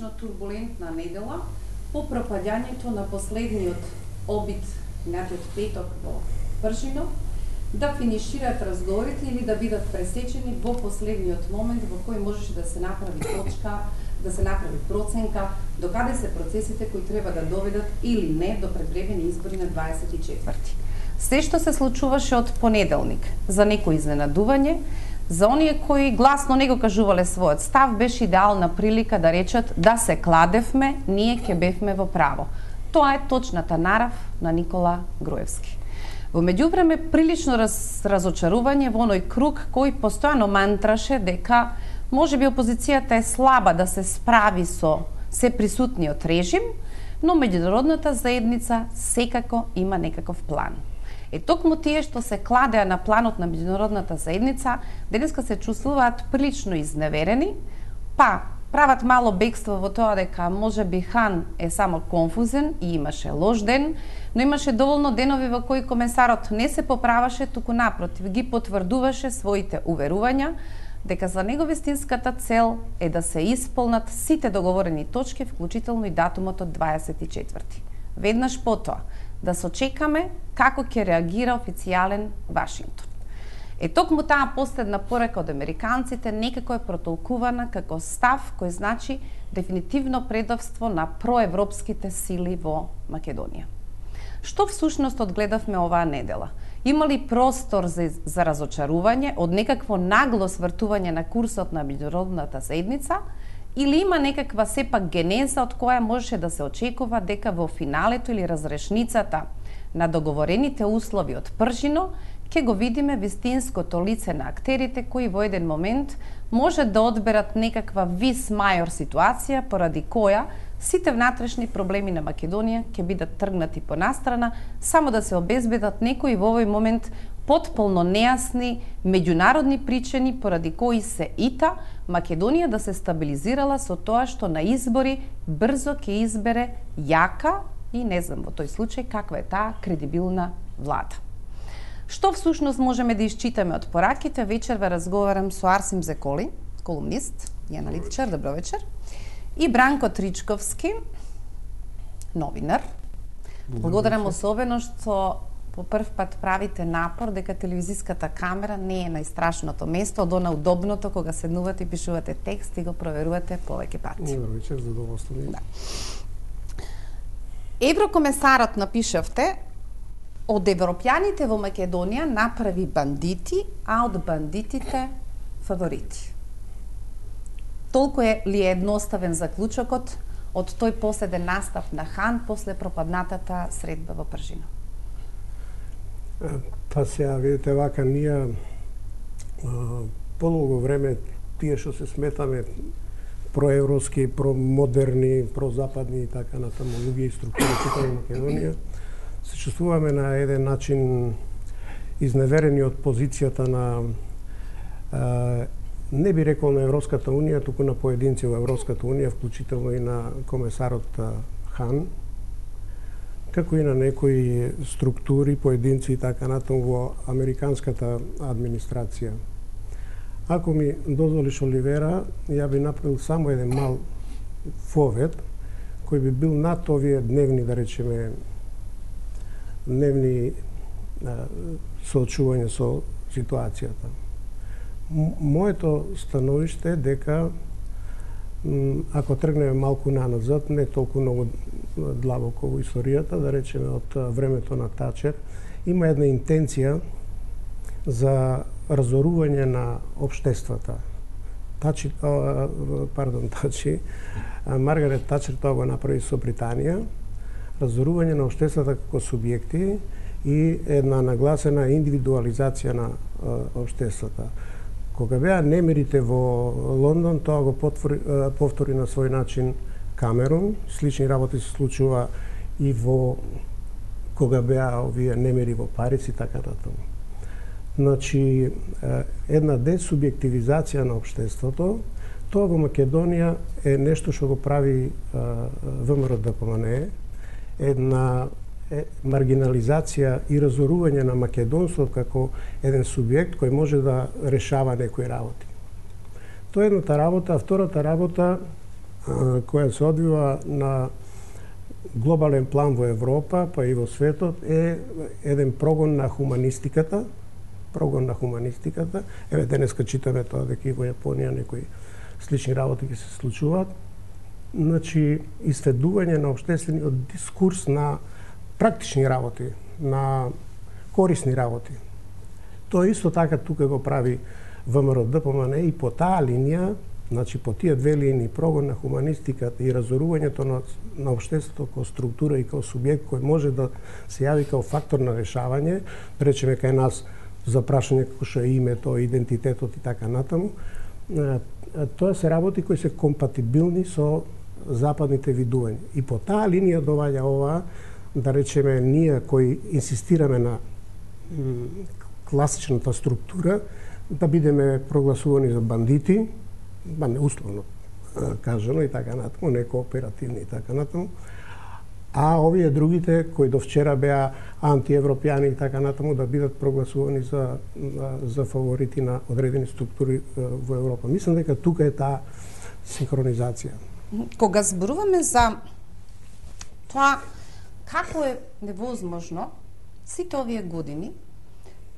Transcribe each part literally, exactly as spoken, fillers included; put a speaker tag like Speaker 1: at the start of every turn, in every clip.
Speaker 1: прилично турбулентна недела по пропаѓањето на последниот обид минатиот петок во Пржино, да финишираат разговорите или да бидат пресечени во последниот момент во кој можеше да се направи точка, да се направи проценка докаде се процесите кои треба да доведат или не до предвремени избори на дваесет и четврти. Се што се случуваше од понеделник, за некој изненадување, за оние кои гласно не го кажувале својот став, беше идеална прилика да речат да се кладевме, ние ќе бевме во право. Тоа е точната нарав на Никола Груевски. Во меѓувреме прилично раз, разочарување во оној круг кој постојано мантраше дека можеби опозицијата е слаба да се справи со се присутниот режим, но меѓународната заедница секако има некаков план. Е токму тие што се кладеа на планот на меѓународната заедница, денеска се чувствуваат прилично изневерени, па прават мало бегство во тоа дека можеби Хан е само конфузен и имаше лош ден, но имаше доволно денови во кои комесарот не се поправаше, туку напротив ги потврдуваше своите уверувања дека за него вистинската цел е да се исполнат сите договорени точки, вклучително и датумот од дваесет и четврти. Веднаш потоа да се очекаме како ќе реагира официјален Вашингтон. Е токму таа последна порека од американците некако е протолкувана како став кој значи дефинитивно предавство на проевропските сили во Македонија. Што всушност одгледавме оваа недела? Има ли простор за, за разочарување од некакво нагло свртување на курсот на меѓународната заедница, или има некаква сепак генеза од која можеше да се очекува дека во финалето или разрешницата на договорените услови од Пржино ќе го видиме вистинското лице на актерите кои во еден момент може да одберат некаква вис мајор ситуација поради која сите внатрешни проблеми на Македонија ќе бидат тргнати по настрана, само да се обезбедат некои во овој момент потполно нејасни меѓународни причини поради кои се ита Македонија да се стабилизирала со тоа што на избори брзо ќе избере јака и не знам во тој случај каква е таа кредибилна влада. Што всушност можеме да исчитаме од пораките? Вечерва разговарам со Арсим Зеколи, колумнист и аналитичар, добро вечер, и Бранко Тричковски, новинар. Благодарам особено што по прв пат правите напор дека телевизиската камера не е најстрашното место, од она удобното кога седнувате и пишувате текст и го проверувате повеќе пати.
Speaker 2: Добро вечер, задоволство ми.
Speaker 1: Да. Еврокомесарот, напишавте, од европјаните во Македонија направи бандити, а од бандитите фаворити. Толку е ли е едноставен заклучокот од тој последен настав на Хан после пропаднатата средба во Пржино?
Speaker 2: Па сега, видите, вака ние подолго време тие што се сметаме проевропски, промодерни, прозападни и така натаму луѓе и структури во Македонија, се чувствуваме на еден начин изневерени од позицијата на а, не би рекол на Европската Унија, туку на поединци во Европската Унија, вклучително и на комесарот Хан, како и на некои структури, поединци и така натаму во американската администрација. Ако ми дозволиш, Оливера, ја би направил само еден мал фовет, кој би бил над овие дневни, да речеме, дневни а, соочување со ситуацијата. Моето становиште е дека ако тргнеме малку наназад, не толку многу длабоко во историјата, да речеме од времето на Тачер, има една интенција за разорување на општествата. Тачи, а, пардон, Тачи, Маргарет Тачер тоа го направи со Британија, разорување на општествата како субјекти и една нагласена индивидуализација на општествата. Кога беа немирите во Лондон, тоа го повтори, повтори на свој начин Камерун. Слични работи се случува и во кога беа овие немири во Париз и така натаму. Значи, една десубјективизација на општеството, тоа во Македонија е нешто што го прави ВМРО-ДПМНЕ, една маргинализација и разорување на македонството како еден субјект кој може да решава некои работи. Тоа е едната работа, а втората работа, која се одвива на глобален план во Европа, па и во светот, е еден прогон на хуманистиката, прогон на хуманистиката. Еве денеска читаме тоа дека и во Јапонија некои слични работи ќе се случуваат. Значи, исследување на општествениот дискурс на практични работи, на корисни работи. Тоа исто така тука го прави ВМРО-ДПМН и по таа линија, значи по тие две линии, прогон на хуманистиката и разорувањето на, на општеството како структура и како субјект кој може да се јави како фактор на решавање, речеме кај нас за прашање како што е името, идентитетот и така натаму, тоа се работи кои се компатибилни со западните видувања. И по таа линија доваѓа ова, да речеме, ние кои инсистираме на класичната структура, да бидеме прогласувани за бандити, ба не условно кажано и така натаму, не кооперативни и така натаму, а овие другите кои до вчера беа антиевропјани и така натаму да бидат прогласувани за за фаворити на одредени структури во Европа. Мислам дека тука е таа синхронизација.
Speaker 3: Кога зборуваме за тоа како е невозможно сите овие години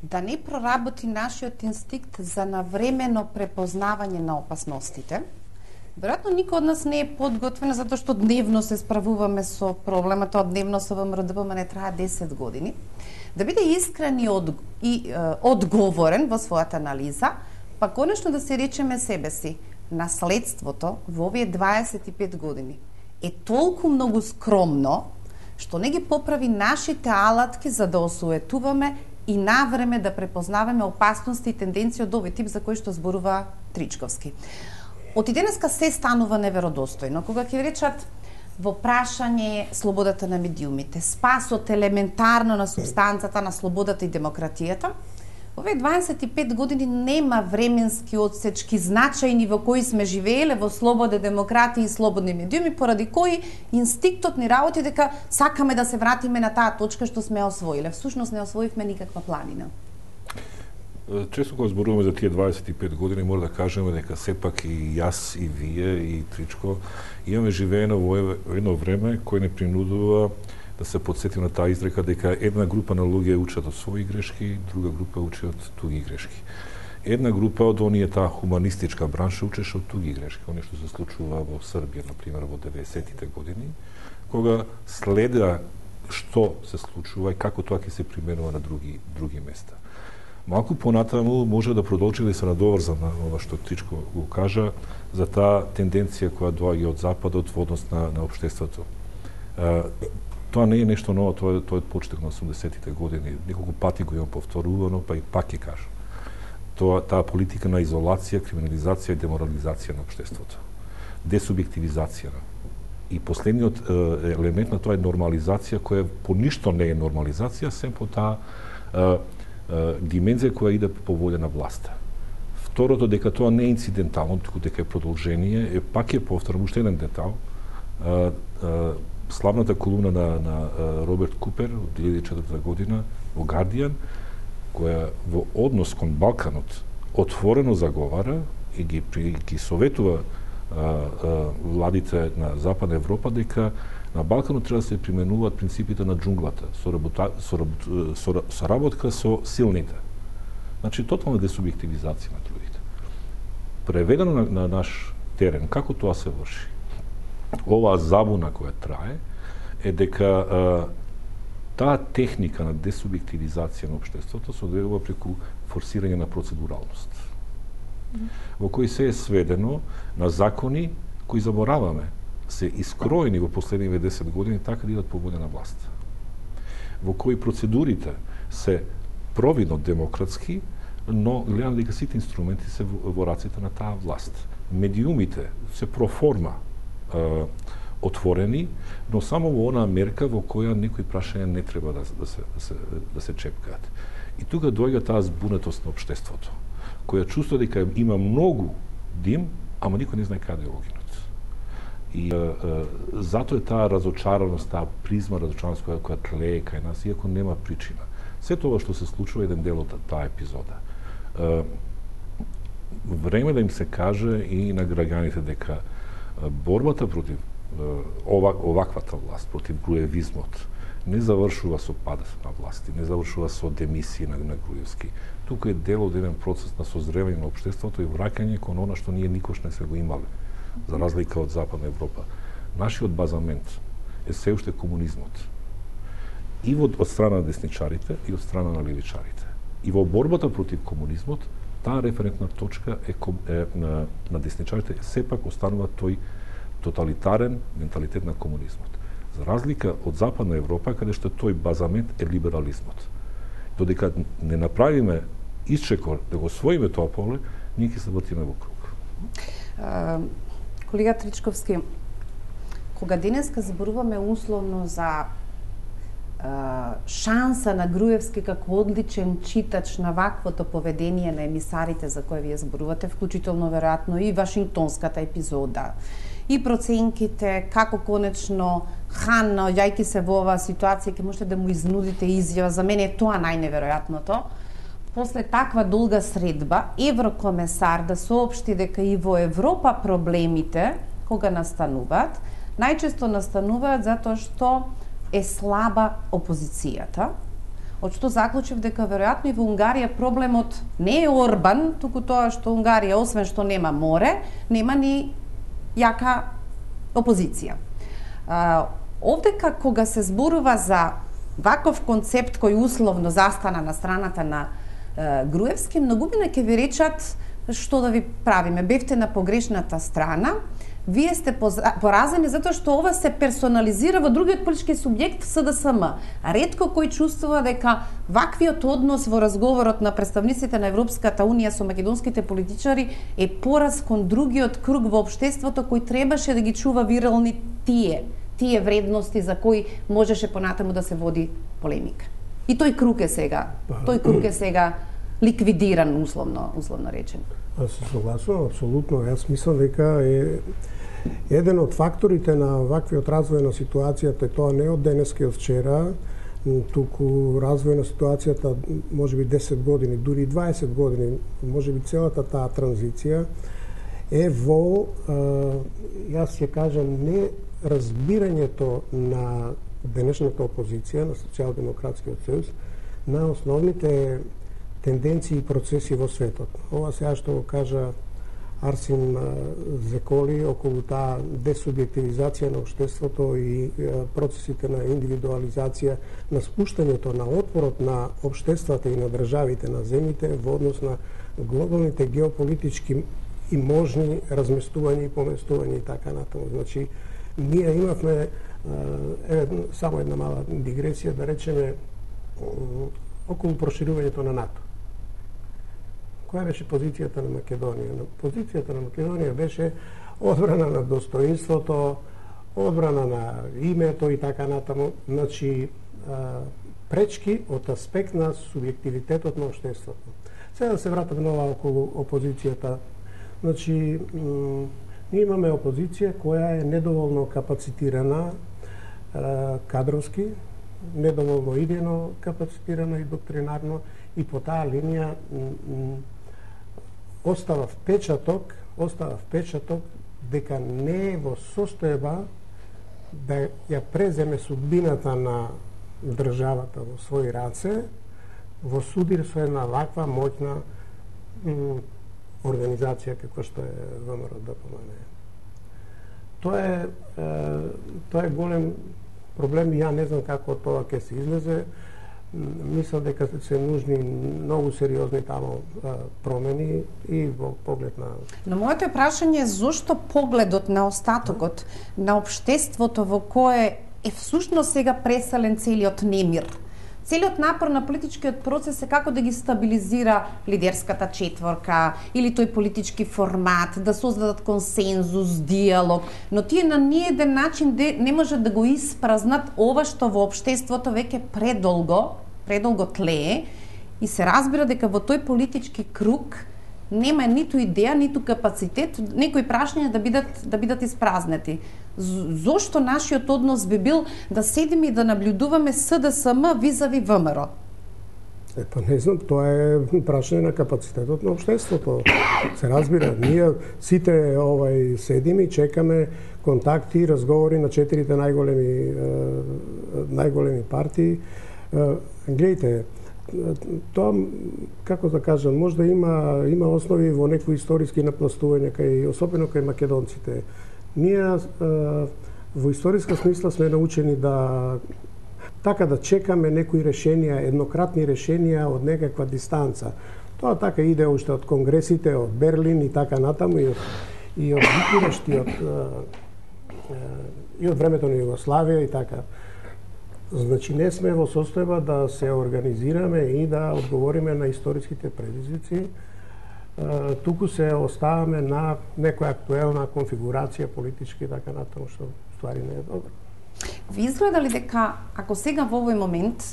Speaker 3: да не проработи нашиот инстинкт за навремено препознавање на опасностите, веројатно никој од нас не е подготвен, затоа што дневно се справуваме со проблемот, тоа дневно со ВМРО-ДПМН трае десет години, да биде искрен и, од, и е, одговорен во својата анализа, па конечно да се речеме себе си, наследството во овие дваесет и пет години е толку многу скромно, што не ги поправи нашите алатки за да осуетуваме и навреме да препознаваме опасности и тенденции од овој тип за кој што зборува Тричковски. Од и денеска се станува неверодостојно. Кога ќе речат во прашање слободата на медиумите, спасот елементарно на субстанцата на слободата и демократијата, овие дваесет и пет години нема временски одсечки значајни во кои сме живееле во слобода, демократија и слободни медиуми, поради кои инстинктот ни работи дека сакаме да се вратиме на таа точка што сме освоиле. Всушност не освоивме никаква планина.
Speaker 4: Често кога зборуваме за тие дваесет и пет години, мора да кажеме дека сепак и јас, и вие, и Тричко, имаме живеено во едно време кој не принудува да се подсетим на таа изрека дека една група на луѓе учат од своји грешки, друга група учи од туги грешки. Една група од оние таа хуманистичка бранша учеше од туги грешки, оние што се случува во Србија, например, во деветдесетите години, кога следа што се случува и како тоа ќе се применува на други други места. Малку понатаму може да продолжи да се надоврза на ова што Тричко го кажа за таа тенденција која доаѓа од западот во однос на, на општеството. Тоа не е нешто ново, тоа е, тоа е почеток на осумдесетите години. Неколку пати го имам повторувано, па и пак ќе кажам. Тоа, таа политика на изолација, криминализација и деморализација на општеството. Десубјективизација. И последниот е, елемент на тоа е нормализација, која по ништо не е нормализација, сем по таа е, е, димензија која иде по волја на власта. Второто, дека тоа не е инцидентално, туку дека е продолжение, е пак е повторам уште еден детал. Е, е, славната колумна на, на Роберт Купер од две илјади и четврта година во Guardian, која во однос кон Балканот отворено заговара и ги, ги советува а, а, владите на Западна Европа дека на Балканот треба да се применуваат принципите на џунглата, соработа, соработ, сора, соработка со силните. Значи, тотална десубјективизација на другите. Преведено на, на наш терен, како тоа се врши? Оваа забуна која трае е дека а, таа техника на десубјективизација на општеството се одвива преку форсирање на процедуралност, mm. во кој се е сведено на закони кои забораваме се искроени во последниве десет години така да идат по волја на власт, во кои процедурите се провидно демократски, но гледам дека сите инструменти се во, во раците на таа власт. Медиумите се проформа отворени, но само во онаа мерка во која некои прашања не треба да, да, се, да, се, да се чепкаат. И тука доаѓа таа збунетост на општеството, која чувствува дека има многу дим, ама никој не знае каде го гинат. И е, е, затоа е таа разочараност, таа призма разочараност која, која тлее кај нас, иако нема причина. Се тоа што се случува еден дел од таа епизода. Е, време да им се каже и на граѓаните дека Борбата против ова, оваквата власт, против груевизмот, не завршува со падот на власти, не завршува со демисија на, на Груевски. Тука е дел од еден процес на созревање на општеството и враќање кон она што ние никош не се го имале, за разлика од Западна Европа. Нашиот базамент е се уште комунизмот. И од, од страна на десничарите, и од страна на левичарите. И во борбата против комунизмот, таа референтна точка е, е на, на десничарите сепак останува тој тоталитарен менталитет на комунизмот. За разлика од Западна Европа, каде што тој базамент е либерализмот. Додека не направиме исчекор да го освоиме тоа поле, ние ќе се вртиме во круг.
Speaker 3: Uh, колега Тричковски, кога денеска зборуваме условно за uh, шанса на Груевски како одличен читач на ваквото поведение на емисарите за кои вие зборувате, вклучително веројатно и Вашингтонската епизода, и проценките како конечно Хан, наоѓајќи се во оваа ситуација, ќе можете да му изнудите изјава. За мене е тоа најневеројатното. После таква долга средба, еврокомесар да соопшти дека и во Европа проблемите, кога настануваат, најчесто настануваат затоа што е слаба опозицијата. Од што заклучив дека веројатно и во Унгарија проблемот не е Орбан, туку тоа што Унгарија, освен што нема море, нема ни јака опозиција. Uh, овдека кога се зборува за ваков концепт кој условно застана на страната на uh, Груевски, многумина ќе ви речат што да ви правиме, бевте на погрешната страна, вие сте поразени затоа што ова се персонализира во другиот политички субјект С Д С М. Ретко кој чувствува дека ваквиот однос во разговорот на представниците на Европската Унија со македонските политичари е пораз кон другиот круг во општеството кој требаше да ги чува вирални тие, тие вредности за кои можеше понатаму да се води полемика. И тој круг е сега, тој круг е сега ликвидиран, условно, условно речен.
Speaker 2: Аз се согласувам, апсолутно. Јас мислам дека е еден од факторите на ваквиот развој на ситуацијата, тоа не од денеска и од вчера, туку развој на ситуацијата можеби десет години, дури дваесет години, можеби целата таа транзиција е во, јас ќе кажам, не разбирањето на денешната опозиција, на Социјалдемократскиот сојуз, на основните тенденции и процеси во светот. Ова сега што го кажа Арсим Зеколи околу таа десубјективизација на општеството и процесите на индивидуализација, на спуштањето на отпорот на општествата и на државите, на земјите во однос на глобалните геополитички и можни разместувања и поместувања и така натаму. Значи, ние имавме е, само една мала дигресија, да речеме, околу проширувањето на НАТО. Која беше позицијата на Македонија? Позицијата на Македонија беше одбрана на достоинството, одбрана на името и така натаму. Значи, пречки од аспект на субјективитетот на општеството. Сега да се вратам нова околу опозицијата. Значи, ние имаме опозиција која е недоволно капацитирана кадровски, недоволно идејно капацитирана и доктринарно, и по таа линија остава впечаток, остава впечаток дека не е во состојба да ја преземе судбината на државата во своји раце, во судир со една ваква моќна организација како што е ВМРО Д П М Н. Тоа е, е тоа е голем проблем и ја не знам како тоа ќе се излезе. Мислам дека се нужни многу сериозни таму промени и во поглед на...
Speaker 3: Но моето прашање е зошто погледот на остатокот на општеството во кое е всушност сега преселен целиот немир. Целиот напор на политичкиот процес е како да ги стабилизира лидерската четворка или тој политички формат, да создадат консензус, диалог, но тие на ниеден начин не можат да го испразнат ова што во општеството веќе предолго, предолго тлее и се разбира дека во тој политички круг нема ниту идеја, ниту капацитет некои прашања да бидат да бидат испразнети. Зошто нашиот однос би бил да седиме и да наблюдуваме С Д С М визави ВМРО?
Speaker 2: Епа не знам, тоа е прашање на капацитетот на општеството. Се разбира, ние сите овај седиме и чекаме контакти и разговори на четирите најголеми најголеми партии. Гледайте, тоа како да кажам, може да има има основи во некои историски напластувања кај особено кај македонците. Ние во историска смисла сме научени да така да чекаме некои решенија, еднократни решенија од некаква дистанца. Тоа така иде уште од конгресите, од Берлин и така натаму и од и од Букурешт и од и од времето на Југославија и така. Значи не сме во состојба да се организираме и да одговориме на историските предизвици. Туку се оставаме на некоја актуелна конфигурација политички и така натаму, што ствари не е добро.
Speaker 3: Ви изгледа ли дека, ако сега во овој момент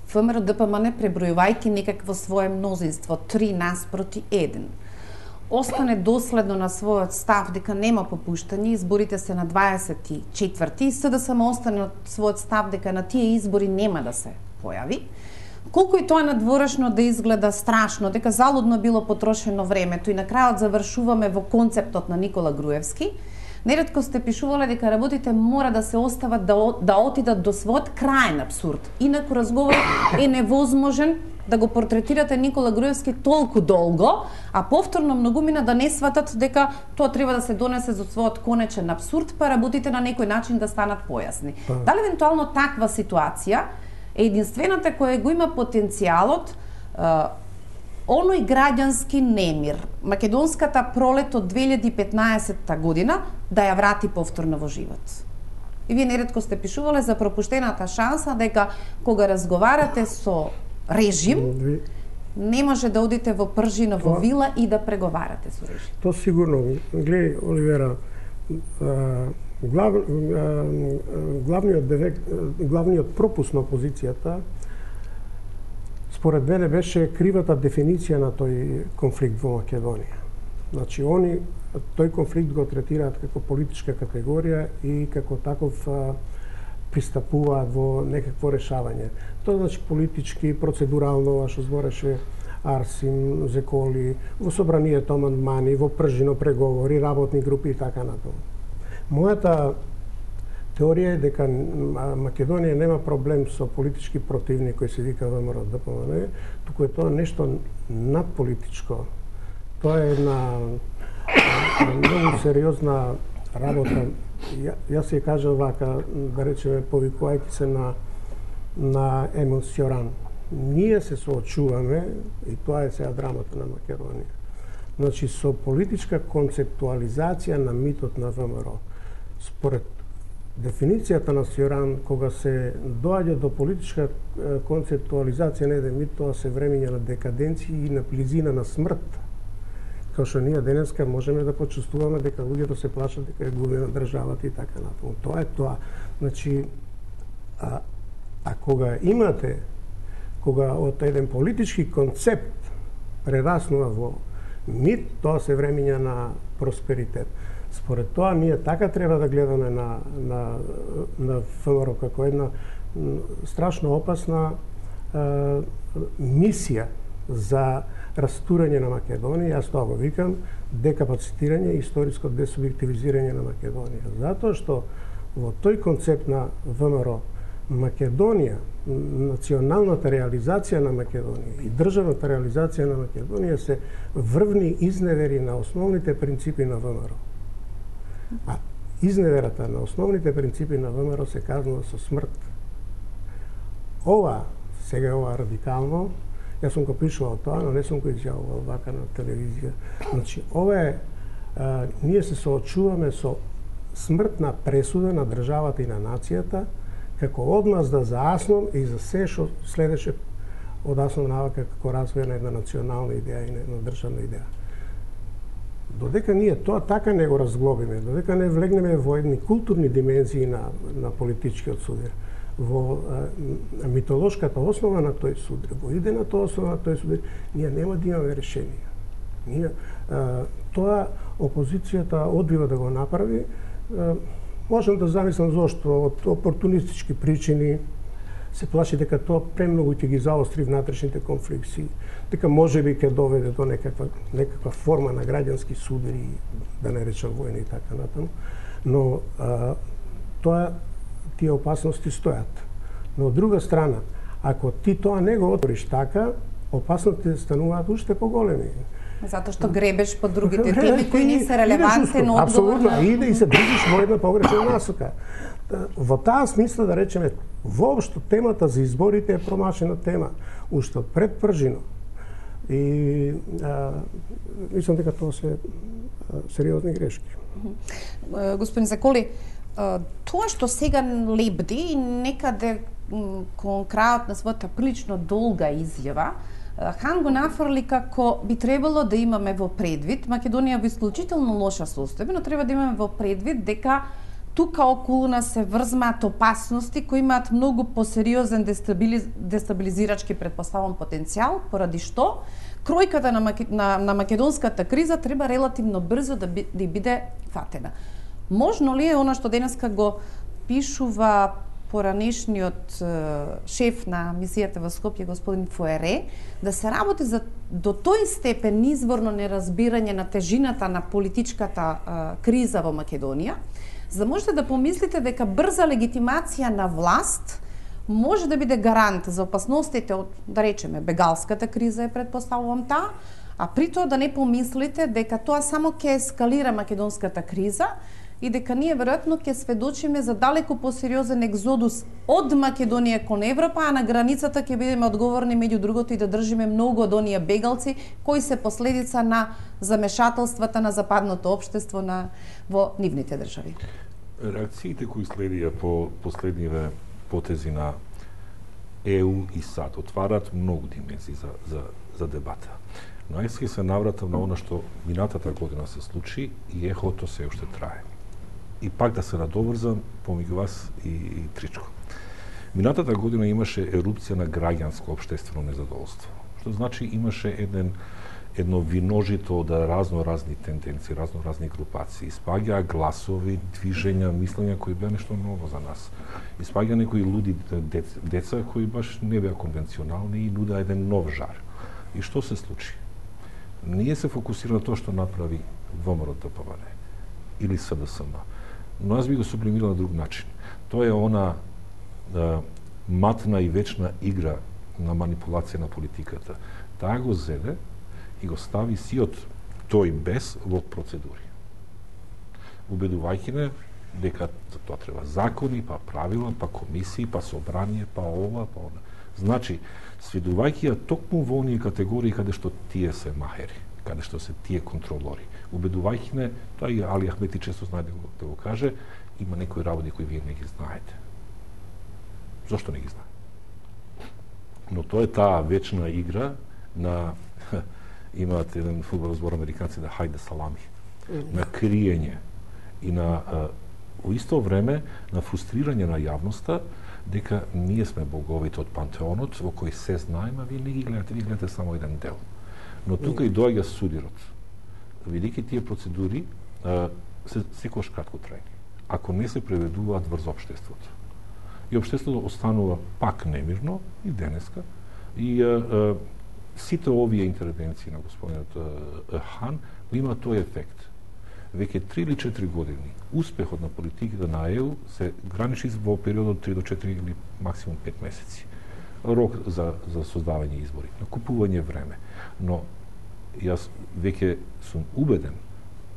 Speaker 3: ВМРО Д П М Н пребројувајќи некакво свое мнозинство три наспроти еден, остане доследно на својот став дека нема попуштање, изборите се на дваесет и четврти и С Д С М остане на својот став дека на тие избори нема да се појави, колку и тоа надворешно да изгледа страшно, дека залудно било потрошено времето и на крајот завршуваме во концептот на Никола Груевски, неретко сте пишувале дека работите мора да се остават да, да отидат до својот крајен абсурд. Инаку разговорот е невозможен да го портретирате Никола Груевски толку долго, а повторно многумина да не сватат дека тоа треба да се донесе за својот конечен абсурд, па работите на некој начин да станат појасни.
Speaker 2: Па.
Speaker 3: Дали евентуално таква ситуација е единствената која го има потенцијалот оној граѓански немир, македонската пролет од две илјади и петнаесетта година, да ја врати повторно во живот? И вие неретко сте пишувале за пропуштената шанса дека кога разговарате со режим, не може да одите во пржина во вила и да преговарате со режим.
Speaker 2: Тоа сигурно. Гледај, Оливера, глав, главниот, девек, главниот пропуск на опозицијата според мене беше кривата дефиниција на тој конфликт во Македонија. Значи, они тој конфликт го третираат како политичка категорија и како таков а, пристапуваат во некакво решавање. Тоа значи политички, процедурално, ова што збореше Арсим, Зеколи, во собранието амандмани, во пржино преговори, работни групи и така натаму. Мојата теорија е дека Македонија нема проблем со политички противник кој се вика ВМРО Д П М Н, туку е тоа нешто надполитичко. Тоа е една многу сериозна работа. Ја, јас ја кажам вака, да речеме, повикувајќи се на на Емил Сјоран. Ние се соочуваме, и тоа е сега драмата на Македонија, значи со политичка концептуализација на митот на ВМРО. Според дефиницијата на Сјоран, кога се доаѓа до политичка концептуализација на еден мит, тоа се времења на декаденција и на близина на смрт. Као што ние денеска можеме да почувствуваме дека луѓето се плашат дека е губена државата и така натаму. Тоа е тоа. Значи, а, а кога имате, кога од еден политички концепт прераснува во мит, тоа се времења на просперитет. Според тоа, ние така треба да гледаме на, на, на ВМРО како една страшно опасна е, мисија за растурање на Македонија. Јас тоа го викам декапацитирање и историско десубјективизирање на Македонија. Затоа што во тој концепт на ВМРО Македонија, националната реализација на Македонија и државната реализација на Македонија се врвни изневери на основните принципи на ВМРО. А изневерата на основните принципи на ВМРО се казнува со смрт. Ова, сега ова радикално, јас сум го пишувал тоа, но не сум го изјавувал вака на телевизија. Значи, ова е, а, ние се соочуваме со смртна пресуда на државата и на нацијата, како одмазда за АСНОМ и за се што следеше од АСНОМ навака како развој на една национална идеја и на една државна идеја. Додека ние тоа така не го разглобиме, додека не влегнеме во едни културни димензии на, на политичкиот судир, во а, митолошката основа на тој судир, во идената основа на тој судир, ние нема да имаме решение. Ние, а, тоа опозицијата одбива да го направи. А, можам да замислам зошто, од опортунистички причини, се плаши дека тоа премногу ќе ги заостри внатрешните конфликти, дека можеби ќе доведе до некаква некаква форма на граѓански судери, да не речам војни и така натаму. Но а, тоа тие опасности стојат. Но од друга страна, ако ти тоа не го отвориш така, опасностите стануваат уште поголеми.
Speaker 3: Затоа што гребеш по другите теми кои не се релевантен одговор.
Speaker 2: Апсолутно, и да и се движиш во една погрешна насока. Во таа смисла, да речеме, воопшто темата за изборите е промашена тема, уште од пред пржино. И а, мислам дека тоа се а, сериозни грешки.
Speaker 3: Господин Заколи, тоа што сега лебди некаде кон крајот на својата прилично долга изјава, Хан го нафрли како би требало да имаме во предвид, Македонија во исклучително лоша состојба, но треба да имаме во предвид дека тука околу нас се врзмаат опасности кои имаат многу посериозен дестабилиз... дестабилизирачки предпоставен потенцијал, поради што кројката на, Маке... на, на македонската криза треба релативно брзо да, би... да биде фатена. Можно ли е она што денеска го пишува поранешниот шеф на мисијата во Скопје, господин Фуере, да се работи за до тој степен изворно неразбирање на тежината на политичката а, криза во Македонија, за да можете да помислите дека брза легитимација на власт може да биде гарант за опасностите од, да речеме, бегалската криза е предпоставувам таа, а при тоа да не помислите дека тоа само ќе ескалира македонската криза и дека ние веројатно ќе сведочиме за далеку посериозен екзодус од Македонија кон Европа, а на границата ќе бидеме одговорни меѓу другото и да држиме многу од оние бегалци кои се последица на замешателствата на западното општество на во нивните држави.
Speaker 4: Реакциите кои следија по последниве потези на Е У и САД отварат многу димензии за за за дебата. Но јас се навратам на она што минатата година се случи и ехото се уште трае. И пак да се надоврзам помеѓу вас и, и Тричко. Минатата година имаше ерупција на граѓанско општествено незадоволство, што значи имаше еден едно виножито од разно разни тенденции, разно разни групации, испаѓаа гласови, движења, мислења кои беа нешто ново за нас. Испаѓаа некои луди деца кои баш не беа конвенционални и нудеа еден нов жар. И што се случи? Ние се фокусира на тоа што направи ВМРО-ДПМН или С Д С М. Но аз би го сублимирал на друг начин. Тоа е она да, матна и вечна игра на манипулација на политиката. Таа го зеде и го стави сиот тој без во процедури. Убедувајќи не дека за тоа треба закони, па правила, па комисии, па собрание, па ова, па она. Значи, сведувајќи ја токму во оние категории каде што тие се махери, каде што се тие контролори. Убедувајќи не, тоа и Али Ахмети често знае да го, да го каже, има некои работи кои вие не ги знаете. Зошто не ги знае? Но тоа е таа вечна игра на имаат еден фудбал збор американци да хајде салами, на криење и на во исто време на фрустрирање на јавноста дека ние сме боговите од пантеонот во кој се знаеме, вие не ги гледате, вие гледате само еден дел. Но тука и доаѓа судирот. Видејќи тие процедури а, се секогаш кратко трајни. Ако не се преведуваат врз општеството. И општеството останува пак немирно и денеска. И а, а, сите овие интервенции на господинот Хан има тој ефект. Веќе три или четири години успехот на политиката на Е У се граничи во период од три до четири или максимум пет месеци. Рок за за создавање избори, накупување време. Но јас веќе сум убеден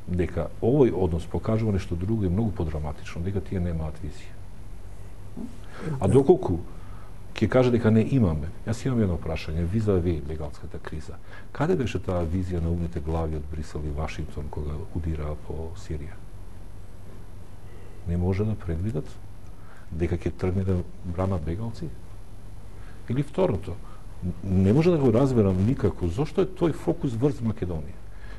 Speaker 4: дека овој однос покажува нешто друго и многу подраматично, дека тие немаат визија. А доколку ќе каже дека не имаме, јас имам едно прашање, визави бегалската криза. Каде беше таа визија на умните глави од Брисел и Вашингтон кога удираа по Сирија? Не може да предвидат дека ќе тргне да брана бегалци? Или второто, не може да го разберам никако зошто е тој фокус врз Македонија.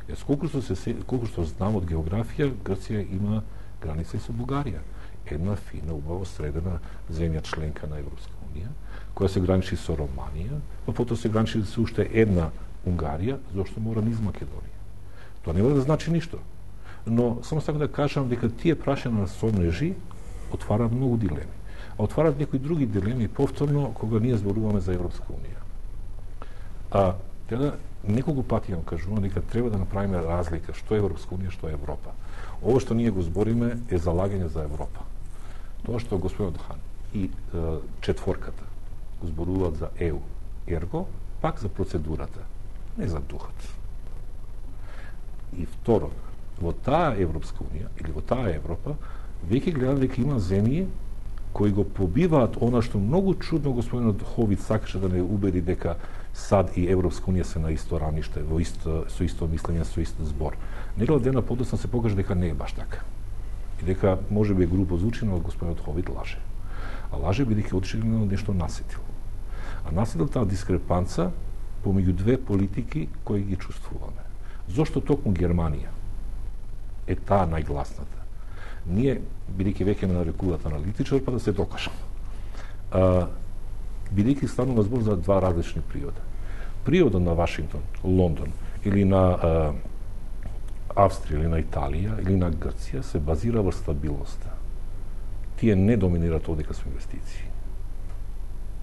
Speaker 4: Јас колку што се колку што знам од географија, Грција има граница и со Бугарија. Една фина, убаво средена земја членка на Европска унија, која се граничи со Романија, па потоа се граничи со уште една Унгарија, зошто мора низ Македонија. Тоа не мора да значи ништо. Но само сакам да кажам дека тие прашања на сонежи отвара многу дилеми. отварат некои други дилеми повторно кога ние зборуваме за Европска унија. А teda неколку пати ја кажувам дека треба да направиме разлика што е Европска унија, што е Европа. Ово што ние го збориме е залагање за Европа. Тоа што господин Хан и е, четворката го зборуваат за Е У, ерго пак за процедурата, не за духот. И второ, во таа Европска унија или во таа Европа веќе гледам дека има земји кои го побиваат она што многу чудно господинот Ховит сакаше да не убеди дека САД и Европска унија се на исто рамниште, во исто, со исто мислење, со ист збор. Недела дена подоцна се покаже дека не е баш така. И дека може би е грубо звучено од господинот Ховит лаже. А лаже бидејќи очигледно нешто насетил. А насетил таа дискрепанца помеѓу две политики кои ги чувствуваме. Зошто токму Германија е таа најгласната? Ние, бидејќи веќе ме нарекуваат аналитичар, па да се докажам. А, бидејќи станува збор за два различни приода. Приодот на Вашингтон, Лондон или на а, Австрија или на Италија или на Грција се базира во стабилноста. Тие не доминираат одека со инвестиции.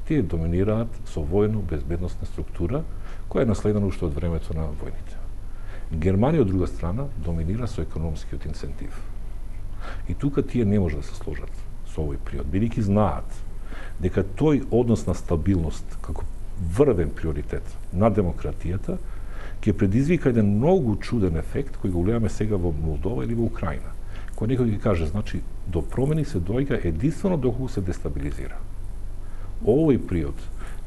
Speaker 4: Тие доминираат со војно-безбедносна структура која е наследена уште од времето на војните. Германија, од друга страна, доминира со економскиот инцентив. И тука тие не може да се сложат со овој приод, бидејќи знаат дека тој однос на стабилност како врвен приоритет на демократијата ќе предизвика еден многу чуден ефект кој го гледаме сега во Молдова или во Украина. Кој некој ќе каже, значи, до промени се доаѓа единствено доколку се дестабилизира. Овој приод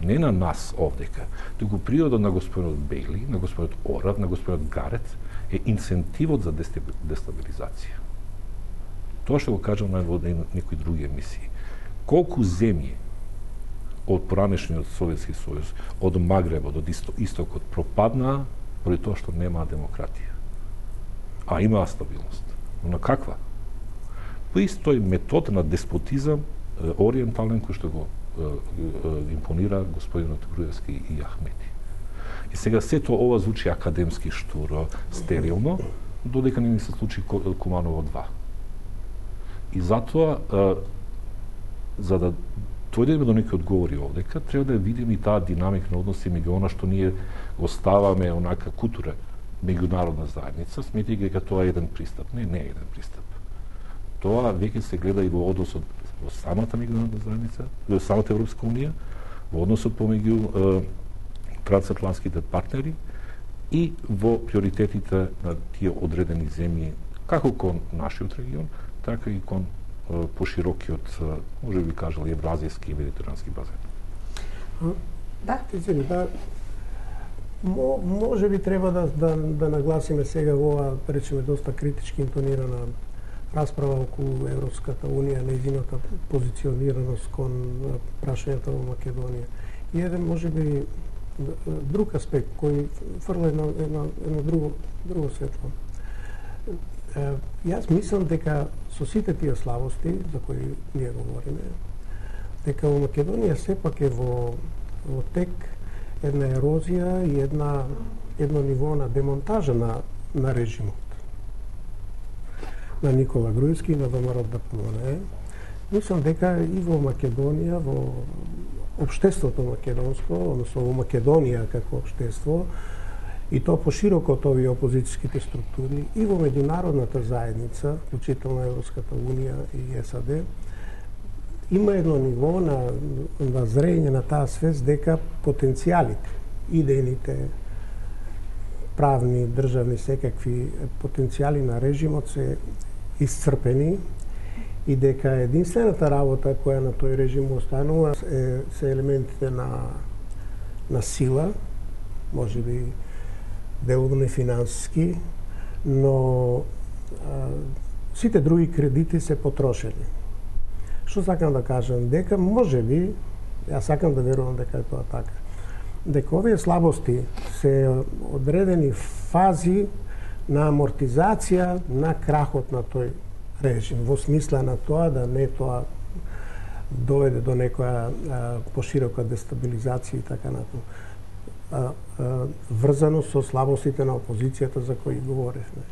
Speaker 4: не на нас овдека, туку приодот на господинот Бейли, на господинот Орав, на господинот Гарет е инцентивот за дестабилизација. Тоа што го кажам на некои други емисии. Колку земји од поранешниот Советски сојуз, од Магребот, од истокот пропаднаа поради тоа што немаа демократија. А имаа стабилност. Но на каква? По истој метод на деспотизам ориентален кој што го импонира господинот Груевски и Ахмети. И сега сето ова звучи академски штуро, стерилно, додека не ни се случи Куманово два. И затоа, за да дојдеме до некои одговори овдека, треба да видиме и таа динамика на односи меѓу она што ние оставаме онака кутура меѓународна заедница, сметајќи дека тоа е еден пристап. Не, не е еден пристап. Тоа веќе се гледа и во односот во самата меѓународна заедница, во самата Европска унија, во односот помеѓу трансатлантските партнери и во приоритетите на тие одредени земји, како кон нашиот регион, така и кон поширокиот, може би кажал, евразијски и медитерански базен.
Speaker 2: Да, извини, да. Мо, може би треба да, да, да нагласиме сега во ова, речеме, доста критички интонирана расправа околу Европската унија, нејзината позиционираност кон прашањата во Македонија. И еден, може би, друг аспект кој фрла едно, едно, едно друго, друго светло. Јас мислам дека со сите тие слабости за кои ние говориме, дека во Македонија сепак е во, во тек една ерозија и една, едно ниво на демонтажа на, на режимот. На Никола Груевски и на ВМРО Д П М Н. Мислам дека и во Македонија, во општеството македонско, односно во Македонија како општество, и тоа пошироко од овие опозицијските структури, и во меѓународната заедница, вклучително Европската унија и С А Д, има едно ниво на, на зрење на таа свест дека потенцијалите, идејните, правни, државни, секакви потенцијали на режимот се исцрпени и дека единствената работа која на тој режим останува е, се елементите на, на сила, може би деловно и финансиски, но а, сите други кредити се потрошени. Што сакам да кажам? Дека може би, јас сакам да верувам дека е тоа така, дека овие слабости се одредени фази на амортизација на крахот на тој режим, во смисла на тоа да не тоа доведе до некоја а, поширока дестабилизација и така натаму. Врзано со слабостите на опозицијата за кои говоревме.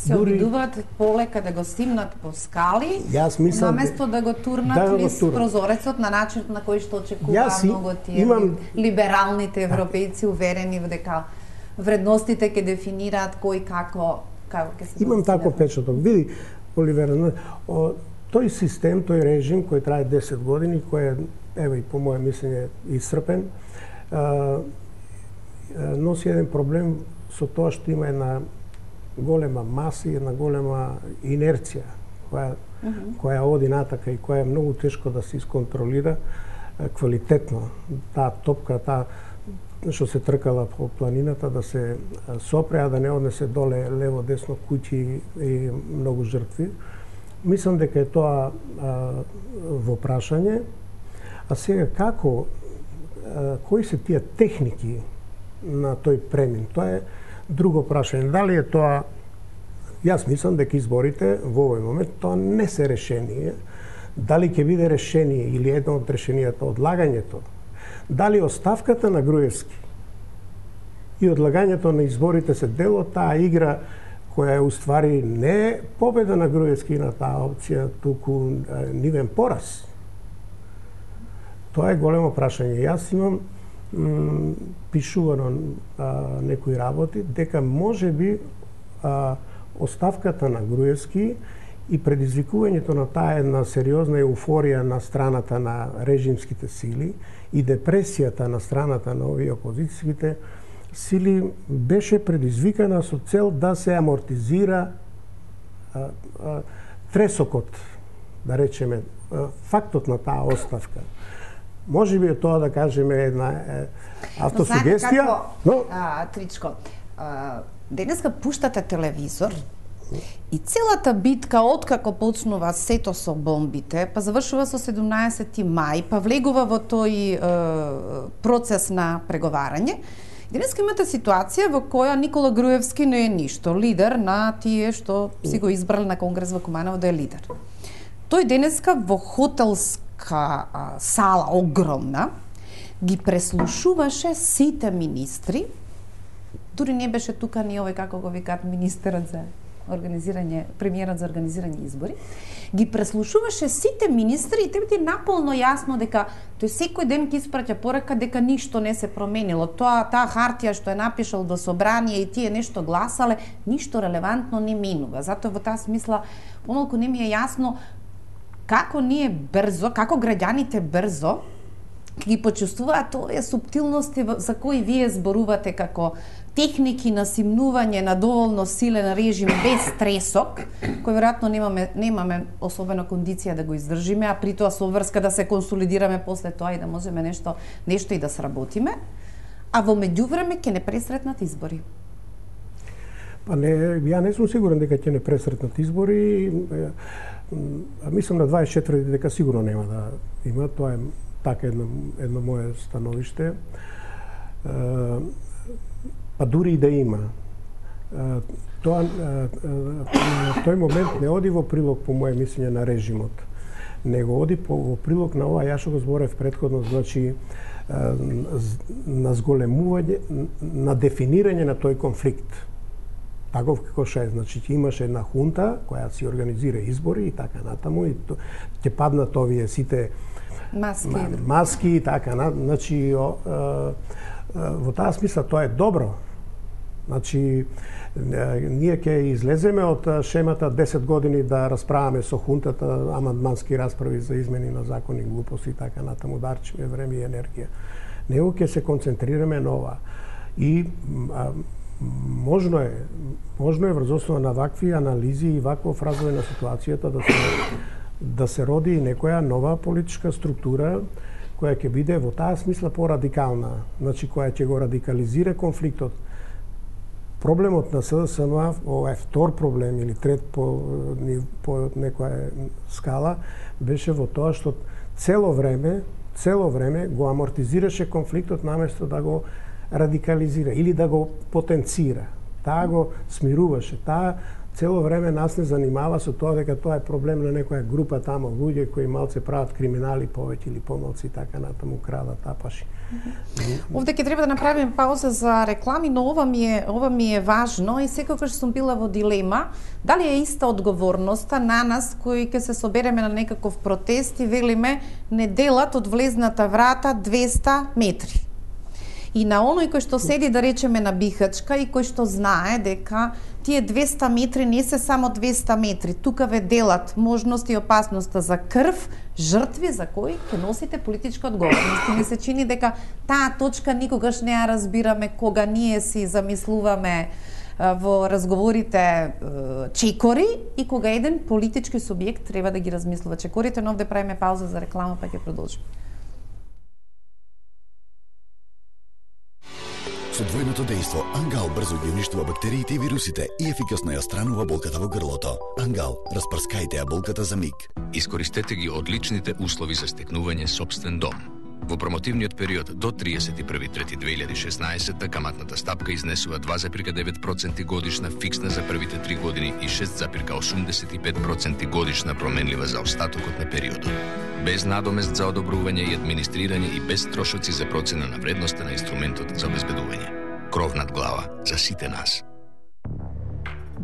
Speaker 3: се
Speaker 2: дури...
Speaker 3: обидуваат полека да го стимнат по скали,
Speaker 2: Јас мислам
Speaker 3: наместо да го турнат
Speaker 2: да го
Speaker 3: низ
Speaker 2: турнат.
Speaker 3: прозорецот на начин на кој што очекува
Speaker 2: Јас и-
Speaker 3: многу тие
Speaker 2: имам-
Speaker 3: либералните европејци уверени во дека вредностите ќе дефинираат кој како како ќе се
Speaker 2: Имам
Speaker 3: достигне.
Speaker 2: таков печаток. Види, Оливера, о, тој систем, тој режим кој трае десет години, кој е, ево и по моје мислење, исцрпен, а, носи еден проблем со тоа што има една голема маса и една голема инерција која, mm -hmm. која оди натака и која е многу тешко да се исконтролира е, квалитетно. Таа топка, таа што се тркала по планината да се сопре, а да не однесе доле лево, десно, куќи и многу жртви. Мислам дека е тоа а, во прашање. А сега како, а, кои се тие техники на тој премин? Тоа е друго прашање. Дали е тоа, јас мислам дека изборите во овој момент тоа не се решение. Дали ќе биде решение или едно од решенијата одлагањето, дали оставката на Груевски и одлагањето на изборите се дел од таа игра која е уствари не победа на Груевски на таа опција, туку нивен пораз. Тоа е големо прашање. Јас имам м, пишувано а, некои работи дека можеби а, оставката на Груевски и предизвикувањето на таа една сериозна еуфорија на страната на режимските сили и депресијата на страната на овие опозицијските сили беше предизвикана со цел да се амортизира а, а, тресокот, да речеме, а, фактот на таа оставка. Може би е тоа, да кажеме, една е, автосугестија,
Speaker 3: но...
Speaker 2: но...
Speaker 3: А, Тричко, а, денеска пуштате телевизор и целата битка, откако почнува сето со бомбите, па завршува со седумнаесети мај, па влегува во тој е, процес на преговарање. Денеска имате ситуација во која Никола Груевски не е ништо, лидер на тие што си го избрали на Конгрес во Куманово да е лидер. Тој денеска во хотелска а, сала огромна ги преслушуваше сите министри, дури не беше тука ни овој, како го викаат, министерот за организирање, премиерот за организирање избори, ги преслушуваше сите министри и тебе ти е наполно јасно дека тој секој ден ќе испраќа порака дека ништо не се променило. Тоа, таа хартија што е напишал до собрание и тие нешто гласале, ништо релевантно не минува. Затоа во таа смисла помалку не ми е јасно како ние брзо, како граѓаните брзо ги почувствуваат овие суптилности за кои вие зборувате како техники на симнување на доволно силен режим без тресок, кој веројатно немаме немаме особено кондиција да го издржиме, а при тоа со врска да се консолидираме после тоа и да можеме нешто нешто и да сработиме, а во меѓувреме ќе не пресретнат избори.
Speaker 2: Па не, ја не сум сигурен дека ќе не пресретнат избори. А мислам на дваесет и четврти дека сигурно нема да има, тоа е така едно, едно мое становиште. Па дури и да има. Тоа, тој момент не оди во прилог, по моje мислење, на режимот, него оди по, во прилог на ова, ја што го зборев предходно, значи на зголемување, на дефинирање на тој конфликт. Таков како ше, значи имаше една хунта која си организира избори и така натаму и ќе паднат овие сите
Speaker 3: маски,
Speaker 2: маски и така натаму. Значи о, о, во таа смисла тоа е добро. Значи ние ќе излеземе од шемата десет години да расправаме со хунтата амандмански расправи за измени на закони, глупости и така натаму, да арчиме време и енергија. Него ќе се концентрираме на ова. И а, можно е, можно е врз основа на вакви анализи и ваков развој на ситуацијата да се да се роди некоја нова политичка структура која ќе биде во таа смисла порадикална, значи која ќе го радикализира конфликтот. Проблемот на СДСМ, ова е втор проблем или трет по, по некоја скала, беше во тоа што цело време, цело време го амортизираше конфликтот наместо да го радикализира или да го потенцира. Таа го смируваше. Таа цело време нас не занимава со тоа дека тоа е проблем на некоја група тамо луѓе кои малце прават криминали повеќе или помалци и така натаму крадат, тапаши.
Speaker 3: Овде ќе треба да направиме пауза за реклами, но ова ми е ова ми е важно и секогаш сум била во дилема дали е иста одговорноста на нас кои ќе се собереме на некаков протест и велиме не делат од влезната врата двеста метри. И на оној кој што седи, да речеме, на Бихачка и кој што знае дека тие двеста метри не се само двеста метри, тука ве делат можност и опасноста за крв, жртви за кои ќе носите политичка одговорност. И ми се чини дека таа точка никогаш не ја разбираме кога ние си замислуваме во разговорите чекори и кога еден политички субјект треба да ги размислува чекорите, но овде правиме пауза за реклама, па ќе продолжиме.
Speaker 5: Со двојното дејство, Ангал брзо ги уништува бактериите и вирусите и ефикасно ја странува болката во грлото. Ангал, распрскајте ја болката за миг.
Speaker 6: Искористете ги одличните услови за стекнување собствен дом. Во промотивниот период до триесет и први трети две илјади и шеснаесетта каматната стапка изнесува два запирка девет проценти годишна фиксна за првите три години и шест запирка осумдесет и пет проценти годишна променлива за остатокот на периодот. Без надомест за одобрување и администрирање и без трошоци за процена на вредноста на инструментот за обезбедување. Кров над глава за сите нас.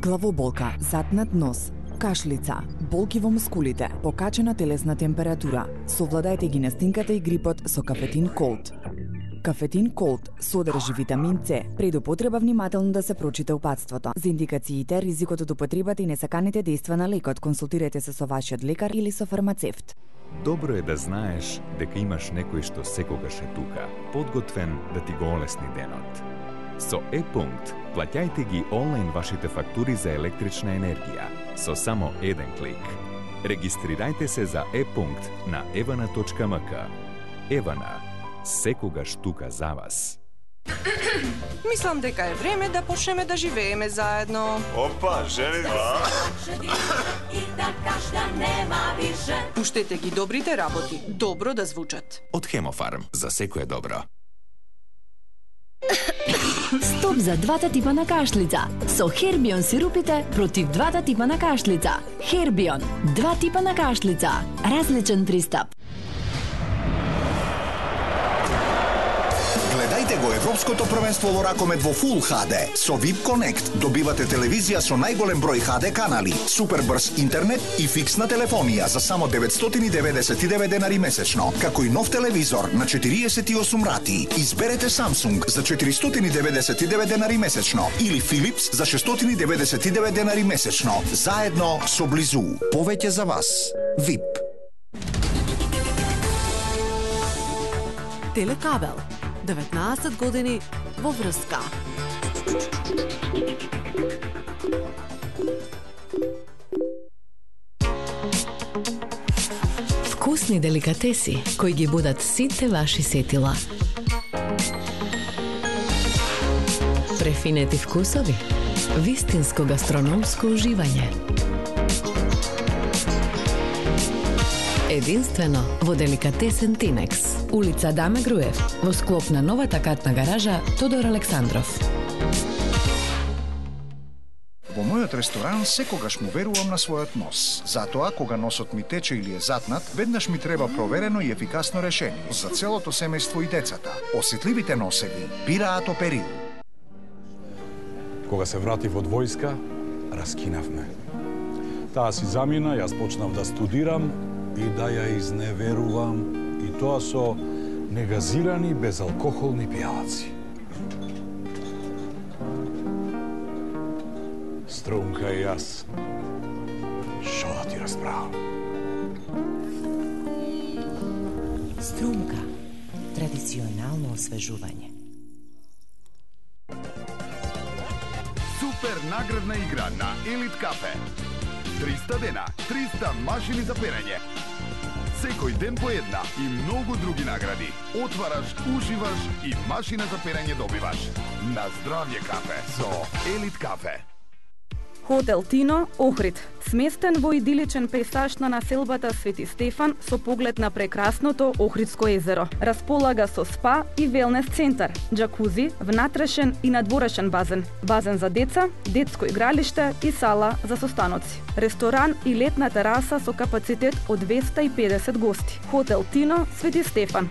Speaker 7: Главоболка, затнат нос, кашлица, болки во мускулите, покачена телесна температура. Совладајте ги настинката и грипот со Кафетин Колд. Кафетин Колд содржи витамин С. Пред употреба внимателно да се прочита упатството. За индикациите, ризикот од употребата и несаканите дејства на лекот, консултирайте се со вашиот лекар или со фармацевт.
Speaker 8: Добро е да знаеш дека имаш некој што секогаш е тука, подготвен да ти го олесни денот. Со Е-пункт плаќајте ги онлайн вашите фактури за електрична енергија со само еден клик. Регистрирајте се за Е-пункт на евана точка ем ка. Евана, секогаш тука за вас.
Speaker 9: Мислам дека е време да почнеме да живееме заедно.
Speaker 10: Опа, женитба!
Speaker 11: И да кашля нема више.
Speaker 9: Пуштете ги добрите работи, добро да звучат.
Speaker 5: Од Хемофарм, за секое добро.
Speaker 11: Стоп за двата типа на кашлица. Со Хербион сирупите против двата типа на кашлица. Хербион, два типа на кашлица. Различен пристап.
Speaker 12: Гледајте го Европското првенство во ракомет во Full ейч ди. Со ви ай пи Connect добивате телевизија со најголем број ейч ди канали, супер брз интернет и фиксна телефонија за само деветстотини и деветдесет и девет денари месечно, како и нов телевизор на четириесет и осум рати. Изберете Samsung за четиристотини и деветдесет и девет денари месечно или Philips за шестстотини и деветдесет и девет денари месечно, заедно со Близу. Повеќе за вас. ви ай пи.
Speaker 13: Телекабел. деветнаесет години во врска.
Speaker 11: Вкусни деликатеси кои ги будат сите ваши сетила. Префинети вкусови. Вистинско гастрономско уживање. Единствено во деликатесен Тинекс. Улица Даме Груев, во склоп на новата катна гаража Тодор Александров.
Speaker 14: Во мојот ресторан секогаш му верувам на својот нос. Затоа, кога носот ми тече или е затнат, веднаш ми треба проверено и ефикасно решение за целото семејство и децата. Осетливите носеви бираат Оперил.
Speaker 15: Кога се вратив од војска, раскинавме. Таа си замина, јас почнав да студирам и да ја изневерувам, и тоа со негазирани безалкохолни пијалаци. Струмка и јас, шо да ти расправам?
Speaker 16: Струмка, традиционално освежување.
Speaker 17: Супер наградна игра на Елит Кафе. триста дена, триста машини за перење. Секој ден по една и многу други награди. Отвараш, уживаш и машина за перење добиваш. На здравје кафе со Елит Кафе.
Speaker 10: Хотел Тино, Охрид, сместен во идиличен пејсаж на населбата Свети Стефан со поглед на прекрасното Охридско езеро. Располага со спа и велнес центар, џакузи, внатрешен и надворешен базен, базен за деца, детско игралиште и сала за состаноци, ресторан и летна тераса со капацитет од двеста и педесет гости. Хотел Тино, Свети Стефан.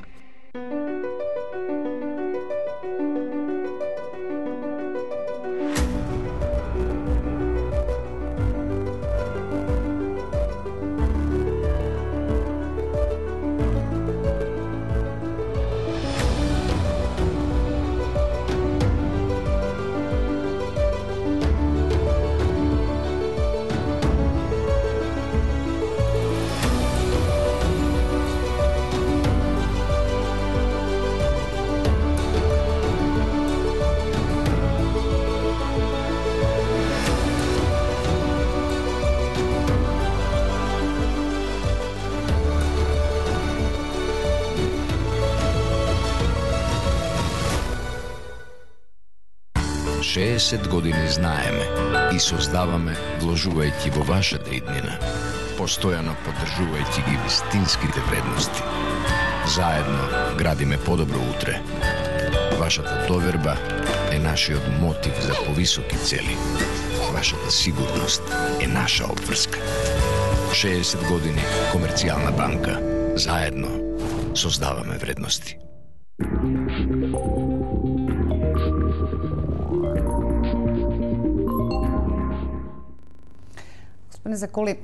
Speaker 6: шеесет години знаеме и создаваме вложувајќи во вашата иднина, постојано поддржувајќи ги вистинските вредности. Заедно градиме подобро утре. Вашата доверба е нашиот мотив за повисоки цели. Вашата сигурност е наша обврска. шеесет години Комерцијална банка. Заедно создаваме вредности.
Speaker 3: Господине Заколи,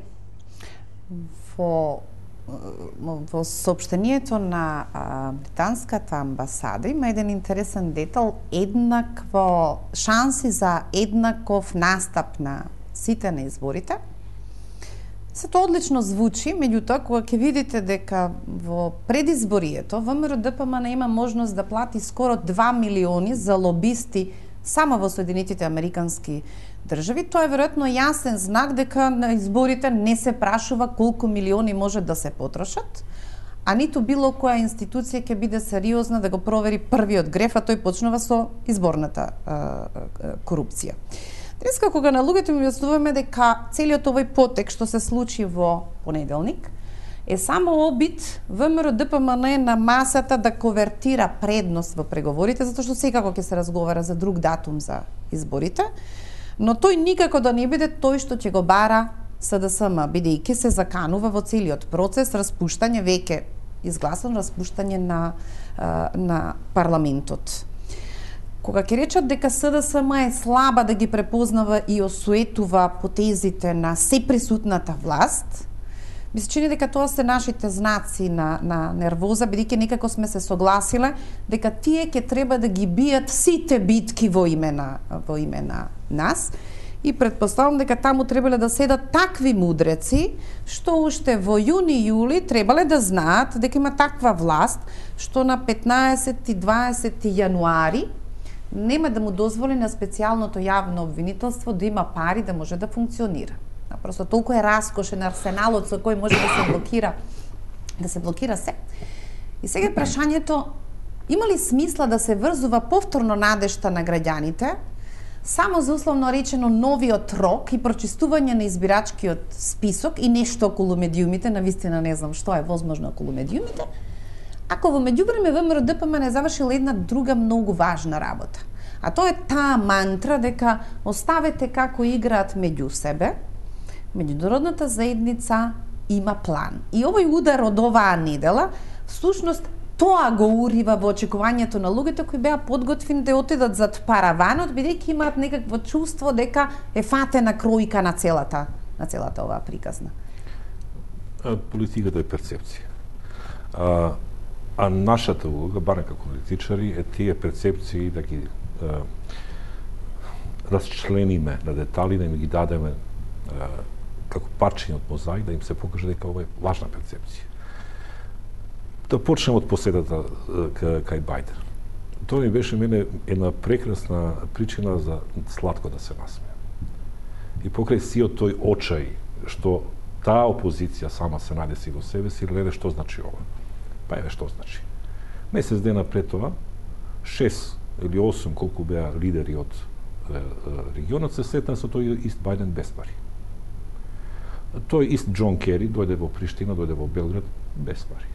Speaker 3: во во соопштението на а, британската амбасада има еден интересен детал, еднакво шанси за еднаков настап на сите на изборите. Се тоа одлично звучи, меѓутоа кога ќе видите дека во предизборието ВМРО-ДПМН има можност да плати скоро два милиони за лобисти само во Соединетите Американски држави, тоа е веројатно јасен знак дека на изборите не се прашува колку милиони може да се потрошат, а ниту било која институција ќе биде сериозна да го провери првиот греф, а тој почнува со изборната а, а, корупција. Денеска кога на луѓето ми објаснуваме дека целиот овој потек што се случи во понеделник е само обид ВМРО-ДПМН на масата да конвертира предност во преговорите, затоа што секако ќе се разговара за друг датум за изборите, но тој никако да не биде тој што ќе го бара СДСМ, бидејќи се заканува во целиот процес распуштање, веќе изгласано распуштање на, на парламентот. Кога ќе речат дека СДСМ е слаба да ги препознава и осуетува потезите на сеприсутната власт, ми се чини дека тоа се нашите знаци на, на нервоза, бидејќи некако сме се согласиле дека тие ќе треба да ги бијат сите битки во име на, во име на нас. И предпоставам дека таму требале да седат такви мудреци, што уште во јуни-јули требале да знаат дека има таква власт, што на петнаесети и дваесети јануари нема да му дозволи на специјалното јавно обвинителство да има пари да може да функционира. Просто толку е раскошен арсеналот со кој може да се блокира, да се блокира се. И сега прашањето, има ли смисла да се врзува повторно надежта на граѓаните само за условно речено новиот рок и прочистување на избирачкиот список и нешто околу медиумите, навистина не знам што е возможно околу медиумите, ако во меѓувреме ВМРО-ДПМН не завршила една друга многу важна работа. А тоа е таа мантра дека оставете како играат меѓу себе, меѓународната заедница има план. И овој удар од оваа недела, всушност, тоа го урива во очекувањето на луѓето кои беа подготвени да отидат зад параванот, бидејќи имаат некакво чувство дека е фатена кројка на целата, на целата оваа приказна.
Speaker 4: А, политиката е перцепција. А, а нашата улога, барем како политичари, е тие перцепции да ги а, расчлениме на детали, да им ги дадеме а, како парчиња од мозаик, да им се покаже дека ова е важна перцепција. Да почнем од посетата кај Бајден. Тоа ми беше мене една прекрасна причина за сладко да се насмеам. И покрај сиот тој очај што таа опозиција сама се надеси во себе си, гледа што значи ова. Па еве што значи. Месец дена пред тоа, шест или осум колку беа лидери од регионот се сретна со тој ист Бајден без пари. Тој ист Џон Кери дојде во Приштина, дојде во Белград без пари.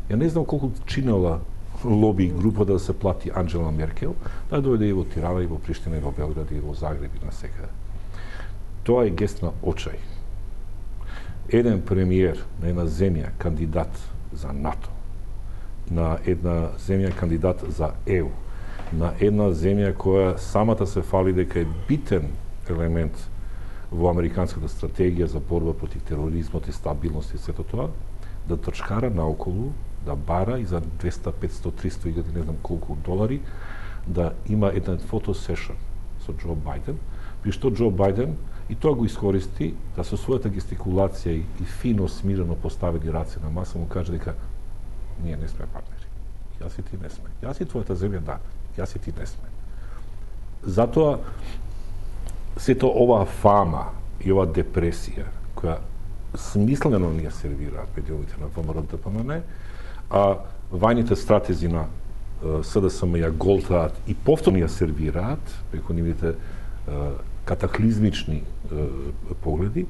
Speaker 4: Ја не знам колку чинела лоби група да се плати Анџела Меркел, да дојде и во Тирана, и во Приштина, и во Белград, и во Загреб, и на секаде. Тоа е гест на очај. Еден премиер на една земја кандидат за НАТО, на една земја кандидат за Е У, на една земја која самата се фали дека е битен елемент во американската стратегија за борба против тероризмот и стабилност и сето тоа, да трчкара наоколу, да бара и за двеста, петсто, триста илјади, не знам колку долари, да има еден фотосешн со Џо Бајден, при што Џо Бајден и тоа го искористи да со својата гестикулација и, и фино смирено поставени раце на маса му каже дека ние не сме партнери. Јас и ти не сме. Јас и твојата земја да, јас и ти не сме. Затоа сето ова фама и ова депресија која смислено ни ја сервираат медиумите на ВМРО Д П М Н, а вајните стратези на С Д С М ја голтаат и повторно ја сервираат преку нивните катаклизмични е, погледи,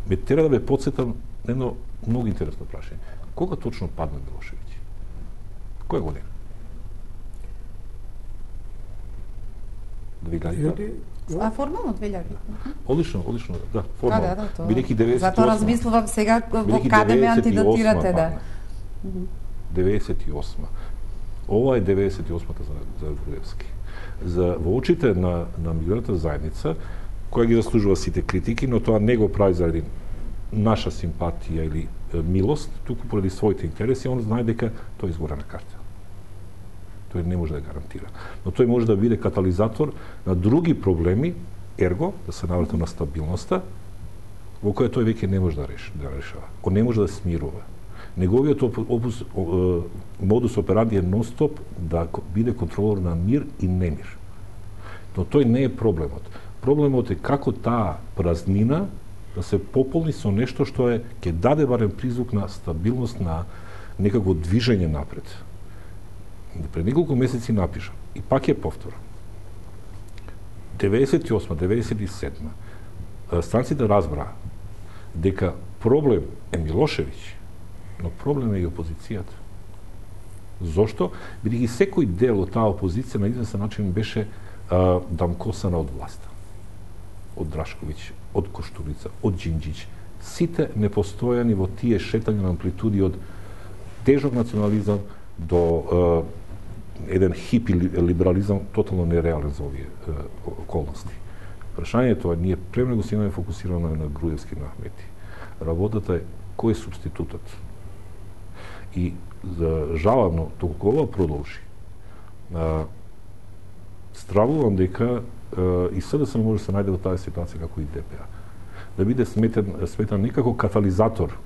Speaker 4: ме тера да ве подсетам на едно многу интересно прашање. Кога точно падна Милошевиќ? Која година? две илјади?
Speaker 3: А формално две илјади.
Speaker 4: Одлично, одлично, да, формално.
Speaker 3: Да, да, да, тоа.
Speaker 4: Бидејќи деветдесет и осма.
Speaker 3: Затоа размислувам сега во каде ме антидатирате, да.
Speaker 4: деветдесет и осма. Ова е деветдесет и осмата за, за Груевски. За во очите на на мигрантската заедница, која ги заслужува сите критики, но тоа не го прави заради наша симпатија или е, милост, туку поради своите интереси, он знае дека тој изгора на карта. Тој не може да гарантира. Но тој може да биде катализатор на други проблеми, ерго, да се наврата на стабилноста, во која тој веќе не може да реши, да решава. Он не може да смирува. Неговиот опус, модус операнди е нон-стоп да биде контролор на мир и немир. Но тој не е проблемот. Проблемот е како таа празнина да се пополни со нешто што е ќе даде барем призвук на стабилност, на некако движење напред. Пред неколку месеци напишам и пак ја повторам. деветдесет и осма, деветдесет и седма станците разбраа дека проблем е Милошевиќ, но проблем е и опозицијата. Зошто? Бидејќи секој дел од таа опозиција на известен начин беше а, дамкосана од власта. Од Драшковиќ, од Коштурица, од Џинџиќ. Сите непостојани во тие шетања на амплитуди од тежок национализам до а, еден хипи либерализам тотално нереален за овие а, околности. Прашањето е, ние премногу се имаме фокусирано на Груевски, на Ахмети. Работата е кој е субститутот. И за жалавно, доколку ова продолжи, а, стравувам дека а, и С Д С М може да се најде во таа ситуација како и Д П А. Да биде сметен, сметен некако катализатор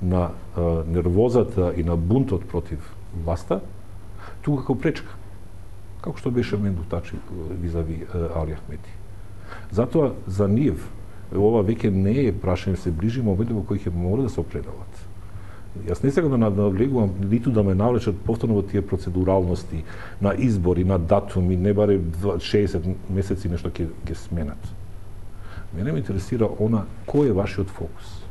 Speaker 4: на а, нервозата и на бунтот против власта, тука како пречка. Како што беше Менду Тачи визави Али Ахмети. Затоа за нив ова веќе не е прашање, се ближи момент во кој ќе мора да се определат. Јас не сакам да навлегувам, ниту да ме навлечат повторно во тие процедуралности на избори, на датуми, не баре шеесет месеци нешто ќе ќе сменат. Мене ме интересира она кој е вашиот фокус.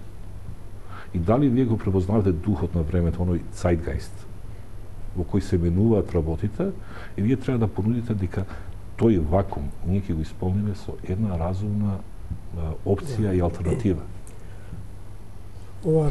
Speaker 4: И дали вие го препознавате духот на времето, оној цајтгејст во кој се менуваат работите, и вие треба да понудите дека тој вакуум ние ќе го исполниме со една разумна а, опција и алтернатива.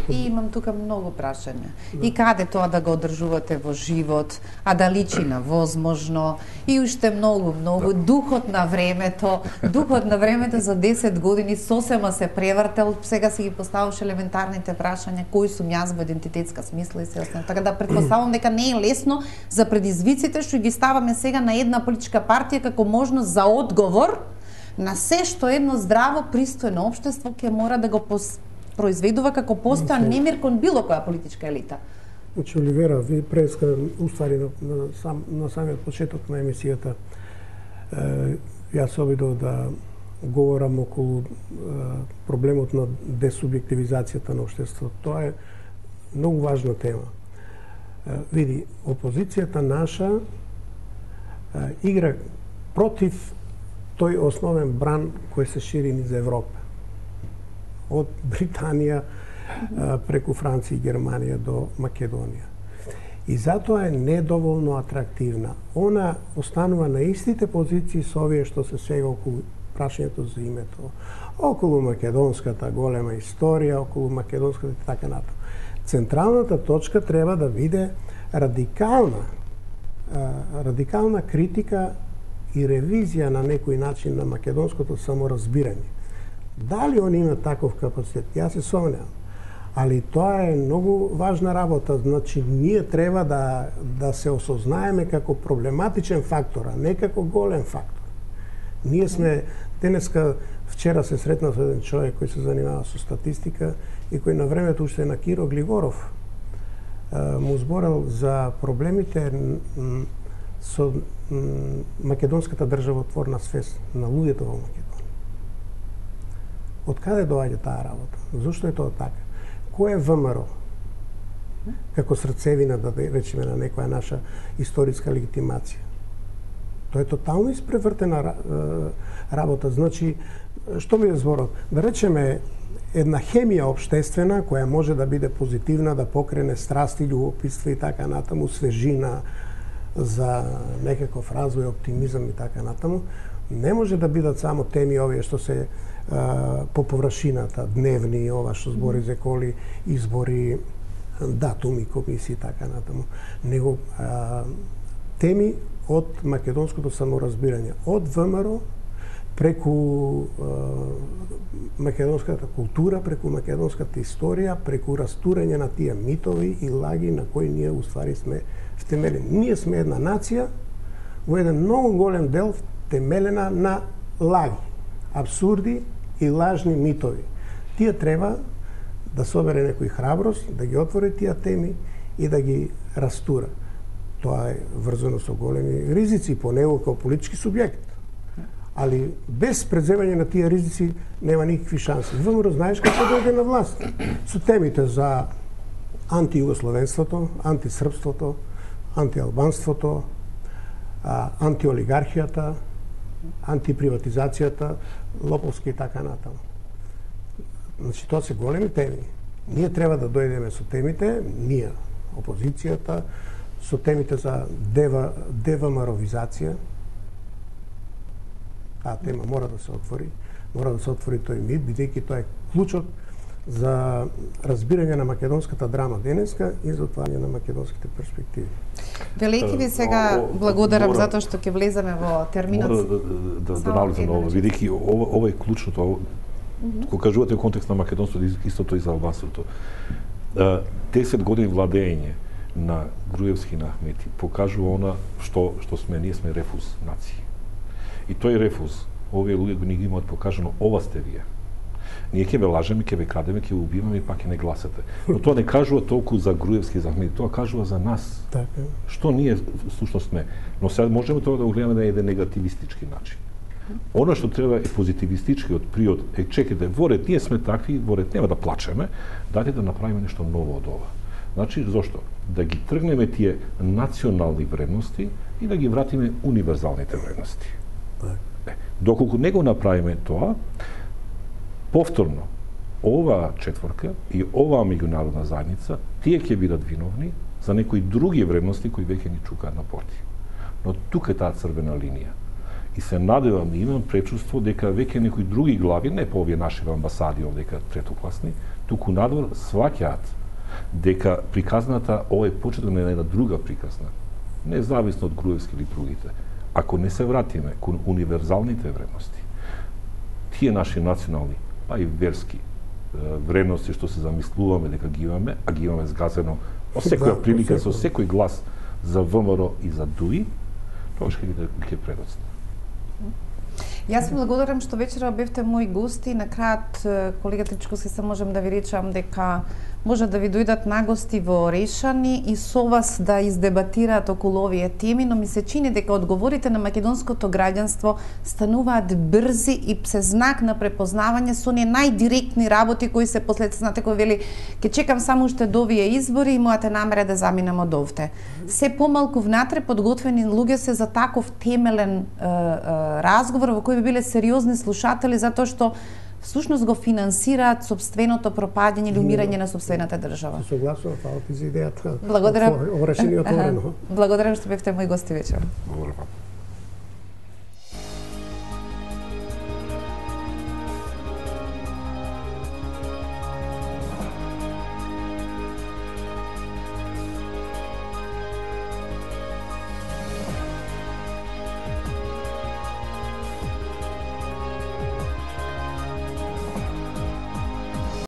Speaker 3: И имам тука многу прашања. И каде тоа да го одржувате во живот, а да личи на возможно, и уште многу, многу. Да. Духот на времето, духот на времето за десет години сосема се превртел, сега си ги поставуваш елементарните прашања, кој сум јас во идентитетска смисла и се останато. Така да претпоставувам дека не е лесно за предизвиците што ги ставаме сега на една политичка партија како можност за одговор на се што едно здраво, пристојно општество ќе мора да го пос произведува како постојан немир кон било која политичка елита.
Speaker 2: Значи, Оливера, ви преска уствари на, на, сам, на самиот почеток на емисијата. Е, јас се обидов да говорам околу е, проблемот на десубјективизацијата на општеството. Тоа е многу важна тема. Е, види, опозицијата наша е, игра против тој основен бран кој се шири низ Европа. Од Британија преку Франција и Германија до Македонија. И затоа е недоволно атрактивна. Она останува на истите позиции со овие што се сега околу прашањето за името, околу македонската голема историја, околу македонската и така натаму. Централната точка треба да биде радикална, радикална критика и ревизија на некој начин на македонското саморазбирање. Дали они имаат таков капацитет? Јас се сомневам. Али тоа е многу важна работа, значи ние треба да да се осознаеме како проблематичен фактор, а не како голем фактор. Ние сме денеска, вчера се сретнав со еден човек кој се занимава со статистика и кој на времето уште на Киро Глигоров му зборел за проблемите со македонската државотворна свест на луѓето во Македонија. Од каде доаѓа таа работа? Зошто е тоа така? Кој е ВМРО? Како срцевина, да речеме, на некоја наша историска легитимација. Тоа е тотално испревртена работа. Значи, што ми е зборот? Да речеме, една хемија општествена која може да биде позитивна, да покрене страсти, љубопитство и така натаму, свежина за некаков развој, оптимизам и така натаму, не може да бидат само теми овие што се а, по површината, дневни, ова што збори за коли, избори, датуми, комисии и така натаму, него а, теми од македонското саморазбирање, од ВМРО, преку а, македонската култура, преку македонската историја, преку растурање на тие митови и лаги на кои ние уствари сме втемелени. Ние сме една нација во еден многу голем дел темелена на лаги, абсурди и лажни митови. Тие треба да собере некој храброст, да ги отвори тие теми и да ги растура. Тоа е врзано со големи ризици по него како политички субјект. Али без преземање на тие ризици нема никакви шанси. ВМРО знаеш како дојде на власт? Со темите за антијугословенството, антисрпството, антиалбанството, антиолигархијата, антиприватизацијата, лоповски и така натаму. Значи, тоа се големи теми. Ние треба да дојдеме со темите, ние, опозицијата, со темите за дева, девамаровизација. Таа тема мора да се отвори, мора да се отвори тој мит, бидејќи тоа е клучот за разбирање на македонската драма денеска и за отварање на македонските перспективи.
Speaker 3: Велики ви сега благодарам мора, затоа што ќе влеземе во терминот.
Speaker 4: Мора да, да, да налезам на ова, бидејќи ова, ова е клучното. Кога кажувате контекст на македонството, истото и за албанството. десет години владење на Груевски и на Ахмети покажува она што што сме, ние сме рефуз нација. И тој рефуз, овие луѓе го ни ги имаат покажано, ова сте вие. Ние ќе ве лажеме, ќе ве крадеме, ќе ве убиваме и пак ќе не гласате. Но тоа не кажува толку за Груевски и за Ахмети, тоа кажува за нас.
Speaker 2: Така.
Speaker 4: Што ние всушност сме. Но сега можеме тоа да го гледаме на еден негативистички начин. Оно што треба е позитивистичкиот приод. Е, чекайте, во ред ние сме такви, во ред нема да плачеме, дајте да направиме нешто ново од ова. Значи, зошто? Да ги тргнеме тие национални вредности и да ги вратиме универзалните вредности. Е, доколку не го направиме тоа, повторно, оваа четворка и оваа меѓународна заедница, тие ќе бидат виновни за некои други вредности кои веќе ни чукаат на порти. Но тука е таа црвена линија. И се надевам и имам пречувство дека веќе некои други глави, не по овие наши амбасади овдека третокласни, туку надвор сваќаат дека приказната ова е почеток на една друга приказна, независно од Груевски или другите. Ако не се вратиме кон универзалните вредности, тие наши национални, па и верски вредности што се замислуваме дека ги имаме, а ги имаме згазено во секоја прилика, со секој глас за ВМРО и за ДУИ, тоа ќе ќе предоцне.
Speaker 3: Јас ви благодарам што вечера бевте мои гости. На крајот, колега Тричковски, се можам да ви речам дека може да ви дојдат нагости во Решани и со вас да издебатираат околу овие теми, но ми се чини дека одговорите на македонското граѓанство стануваат брзи и се знак на препознавање со оние најдиректни работи кои се послед, знате, кој вели ќе чекам само уште до овие избори и мојата намера да заминам од овде. Се помалку внатре подготвени луѓе се за таков темелен е, е, разговор во кој би биле сериозни слушатели, затоа што всушност го финансираат собственото пропаѓање или умирање на собствената држава.
Speaker 2: Согласно, фала ти за идејата.
Speaker 3: Благодарам.
Speaker 2: Ова решение е отворено.
Speaker 3: Благодарам што бевте мој гости вечер.
Speaker 4: Благодарам.